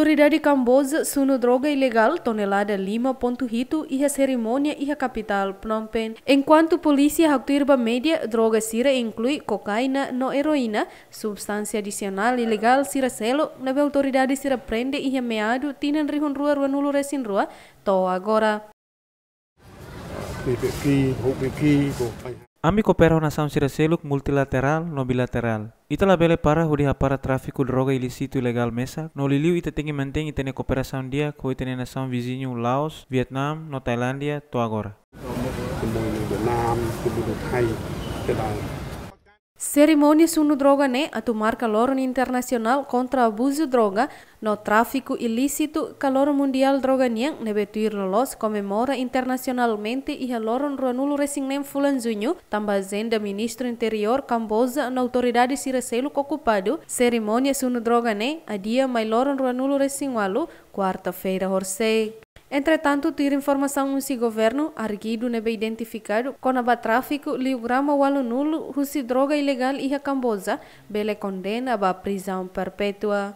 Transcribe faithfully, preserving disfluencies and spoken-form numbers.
Autoridade Kamboja sunu droga ilegál tonelada lima pontu hitu iha serimónia iha kapitál Phnom Penh. Enkuantu polísia haktuir ba média, droga sira inklui kokaina no eroína, substánsia adisionál ilegál sira seluk ne'ebé autoridade sira prende iha meadu tinan rihun rua rua-nulu resin rua to'o agora. Ami koopera ho nasaun sira seluk multilaterál no bilaterál. Ita labele para hodi hapara tráfiku droga ilísitu ilegál mesak, no liuliu ita tenke mantein ita-nia kooperasaun di'ak ho ita-nia nasaun viziñu Laos, Vietnam no Tailándia to'o agora. Serimónia sunu droga ne'e atu marka loron internasionál kontra abuzu droga no tráfiku ilísitu ka loron mundiál droga nian ne'ebé tuir loloos komemora internasionalmente iha loron rua-nulu resin neen fulan Juñu, tanba ajenda Ministru Interiór Kamboja no autoridade sira seluk okupadu. Serimónia sunu droga ne'e adia mai loron rua-nulu resin ualu, kuarta-feira horisehik. Entretantu, tuir informasaun husi governu, arguidu ne'ebé identifikadu kona-ba tráfiku liu grama ualu-nulu husi droga ilegál iha Kamboja bele kondena ba prizaun perpétua.